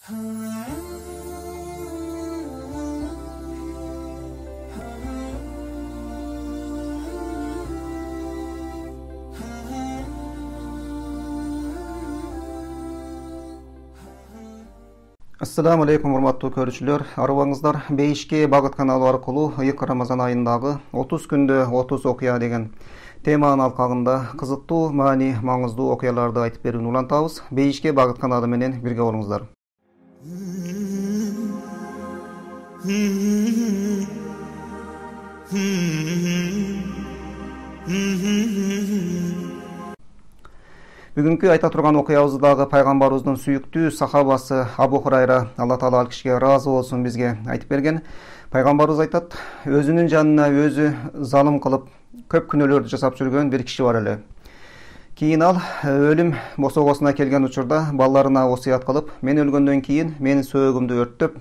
Assalamu alaikum урматтуу көрүүчүлөр. Арыбаңыздар Бейишке багыт каналы аркылуу ыйык Рамазан айындагы 30 күндө 30 окуя деген теманын алкагында кызыктуу, маани, маңыздуу окуяларды айтып берүүнү улантабыз. Бейишке багыт каналы менен бирге болуңуздар. Бүгүнкү айта турган окуябыздагы пайгамбарыбыздын сүйүктүү сахабасы Абу Хурайра, Алла Таала ал кишиге ыраазы болсун, бизге айтып берген. Пайгамбарыбыз айтат: өзүнүн жанына өзү залым кылып көп күнөөлөрдү жасап жүргөн бир киши бар эле. Кийин ал өлүм босогосуна келген учурда балдарына осуят кылып, мен өлгөндөн кийин менин сөөгүмдү өрттөп,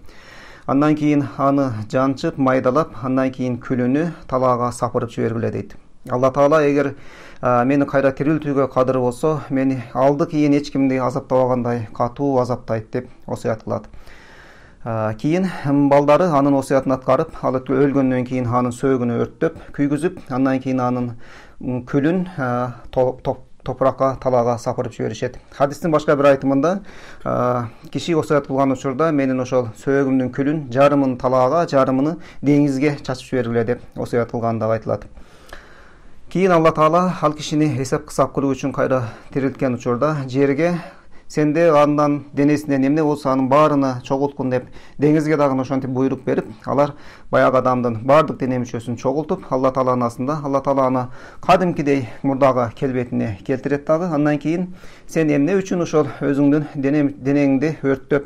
андан кийин аны жанчып, майдалап, андан кийин күлүнү талаага сапырып жибергиле дейт. Алла Таала эгер мени кайра тирилтүүгө кадыр болсо, мени алды кийин эч кимди азаптабагандай катуу азаптайт деп осуят кылат. Кийин балдары анын осуятын аткарып, ал өлгөндөн кийин анын сөөгүнү өрттөп, күйгүзүп, андан кийин анын күлүн топуракка, талаага сапырып жиберишет. Хадистин башка бир айтымында киши осуят кылган учурда менин ошол сөөгүмдүн күлүн жарымын талаага, жарымын деңизге чачып жибергиле деп осуят кылганы дагы айтылат. Кийин Алла Таала ал кишини эсеп-кысап кылуу үчүн кайра тирилткен учурда жерге сенде андан денесинен эмне болсо анын баарына чогулткун деп деңизге дагы ошентип буйрук берип, алар баягы адамдын баардык дене мүчөсүн чогултуп, Алла Тааланын астында Алла Таала аны кадимкидей мурдагы келбетине келтирет дагы. Андан кийин сен эмне үчүн ошол өзүңдүн денеңди өрттөп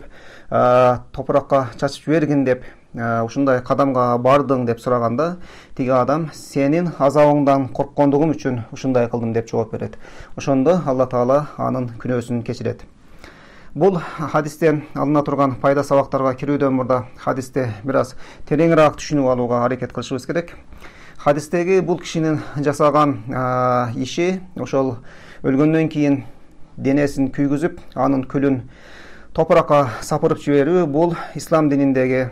топуракка чачып жибергин деп ушундай кадамга бардың деп сураганда, тиги адам сенин азабыңдан корккондугум үчүн ушундай кылдым деп жооп берет. Ошондо Алла Таала анын күнөөсүн кечирет. Бул хадистен алына турган пайда сабактарга кирүүдөн мурда хадисти бир аз тереңирээк түшүнүп алууга аракет кылышыбыз керек. Хадистеги бул кишинин жасаган иши ошол өлгөндөн кийин денесин күйгүзүп, анын күлүн топуракка сапырып жиберүү, бул ислам дининдеги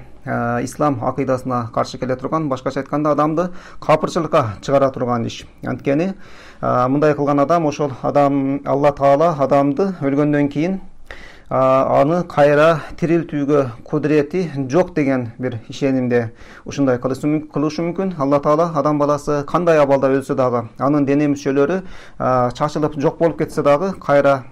ислам акыйдасына каршы келе турган, башкача айтканда адамды капырчылыкка чыгара турган иш. Анткени мындай кылган адам, ошол адам, Алла Таала адамды өлгөндөн кийин аны кайра тирилтүүгө кудурети жок деген бир ишенимде ушундай кылышы мүмкүн. Алла Таала адам баласы кандай абалда өлсө дагы, анын дене мүчөлөрү чачылып жок болуп кетсе дагы кайра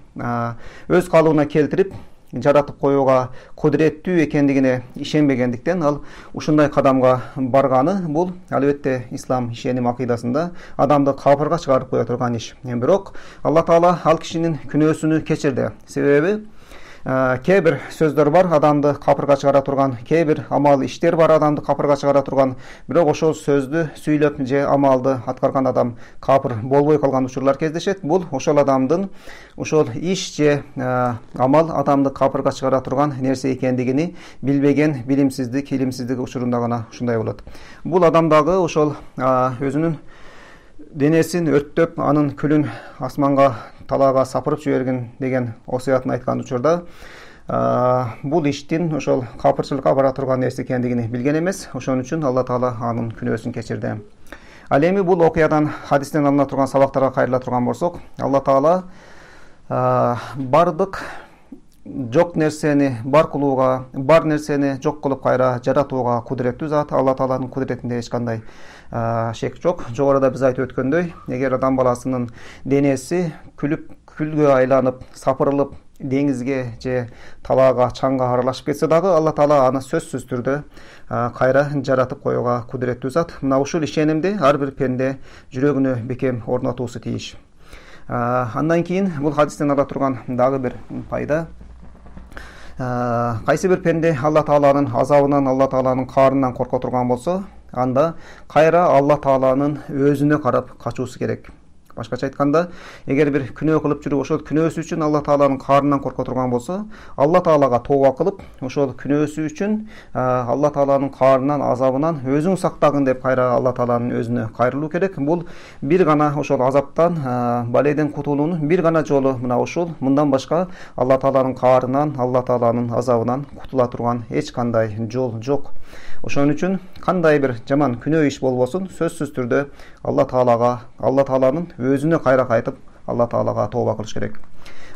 өз калыбына келтирип жаратып коюуга кудуреттүү экендигине ишенбегендиктен ал ушундай кадамга барганы, бул албетте ислам ишеним акыйдасында адамды капырга чыгарып кое турган иш. Бирок Алла Таала ал кишинин күнөөсүнү кечирди. Себеби кээ бир сөздөр бар адамды капырга чыгара турган, кээ бир амал иштер бар адамды капырга чыгара турган, бирок ошол сөздү сүйлөп же амалды аткарган адам капыр болбой калган учурлар кездешет. Бул ошол адамдын ошол иш же амал адамды капырга чыгара турган нерсе экендигини билбеген билимсиздик, илимсиздик учурунда гана ушундай болот. Бул адам дагы ошол өзүнүн денесин өрттөп, анын күлүн асманга, талаага сапырып жибергин деген осуятын айткан учурда бул иштин ошол капырчылыкка бара турган нерсе экендигини билген эмес. Ошон үчүн Алла Таала анын күнөөсүн кечирди. Ал эми бул окуядан, хадистен алына турган сабактарга кайрыла турган болсок, Алла Таала бардык жок нерсени бар кылууга, бар нерсени жок кылып кайра жаратууга кудуреттүү зат. Алла Тааланын кудуретинде эч кандай шек жок. Жогоруда биз айтып өткөндөй, эгер адам баласынын денеси күлгө айланып, сапырылып, деңизге же талаага, чаңга аралашып кетсе дагы, Алла Таала аны сөзсүз түрдө кайра жаратып коюуга кудуреттүү зат. Мына ушул ишенимди ар бир пенде жүрөгүнө бекем орнотуусу тийиш. Андан кийин бул хадистен ала турган дагы бир пайда: кайсы бир пенде Алла Тааланын азабынан, Алла Тааланын каарынан корко турган болсо, анда кайра Алла Тааланын өзүнө карап качуусу керек. Башкача айтканда, эгер бир күнөө кылып жүрүп, ошол күнөөсү үчүн Алла Тааланын каарынан корко турган болсо, Алла Таалага тооба кылып, ошол күнөөсү үчүн Алла Тааланын каарынан, азабынан өзүң сактагын деп кайра Алла Тааланын өзүнө кайрылуу керек. Бул бир гана ошол азаптан, баледен кутулуунун бир гана жолу мына ушул. Мындан башка Алла Тааланын каарынан, Алла Тааланын азабынан кутула турган эч кандай жол жок. Ошон үчүн кандай бир жаман күнөө иш болбосун, сөзсүз түрдө Алла Тааланын өзүнө кайра кайтып, Алла Таалага тооба кылыш керек.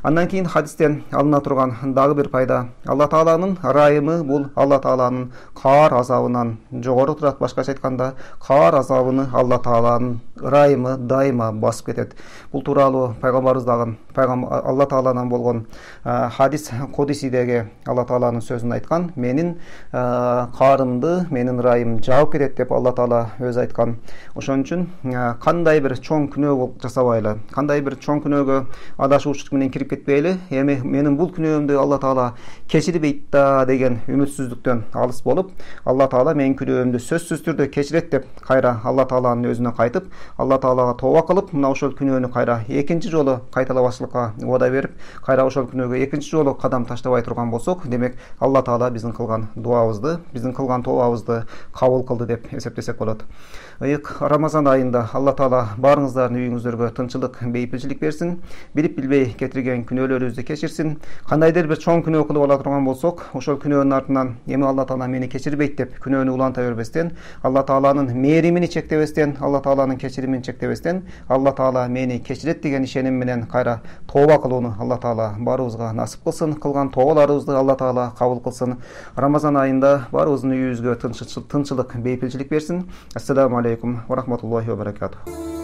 Андан кийин хадистен алына турган дагы бир пайда, Алла Тааланын ырайымы бул Алла Тааланын каар азабынан жогору турат. Башкача айтканда, каар азабыны Алла Тааланын ырайымы дайыма басып кетет. Бул тууралуу пайгамбарыбыз Алла Тааладан болгон хадис кудисидеги Алла Тааланын сөзүн айткан. Менин каарымды, менин ырайым жаап кетет деп Алла Таала өзү айткан. Ошон үчүн кандай бир чоң күнөө жасабайлы, кандай бир чоң күнөөгө адашуучулук менен кирип кетпейли, эми менин бул күнөөмдү Алла Таала кечирбейт да деген үмүтсүздүктөн алыс болуп, Алла Таала менин күнөөмдү сөзсүз түрдө кечирет деп кайра Алла Тааланын өзүнө кайтып, Алла Таалага тооба кылып, мына ошол күнөөнү кайра экинчи жолу кайталабачлыкка убада берип, кайра ошол күнөөгө экинчи жолу кадам таштабай турган болсок, демек Алла Таала биздин кылган дуабызды, биздин кылган тообабызды кабыл кылды деп эсептесек болот. Ыйык Рамазан айында Алла Таала баарыңыздардын үйүңүздөргө тынччылык, бейпилчилик берсин, билип билбей кетирген күнөөлөрүбүздү кечирсин. Кандайдыр бир чоң күнөө кылып ала турган болсок, ошол күнөөнүн артынан эми Алла Таала мени кечирбейт деп күнөөнү уланта бербестен, Алла Тааланын мээримини чектебестен, Алла Тааланын кечиримин чектебестен, Алла Таала мени кечирет деген ишеним менен кайра тооба кылууну Алла Таала баарыбызга насип кылсын. Кылган тообаларыбызды Алла Таала кабыл кылсын. Рамазан айында баарыбыздын үйүбүзгө тынччылык, бейпилчилик берсин. Ассаламу алейкум ва рахматуллахи ва баракатух.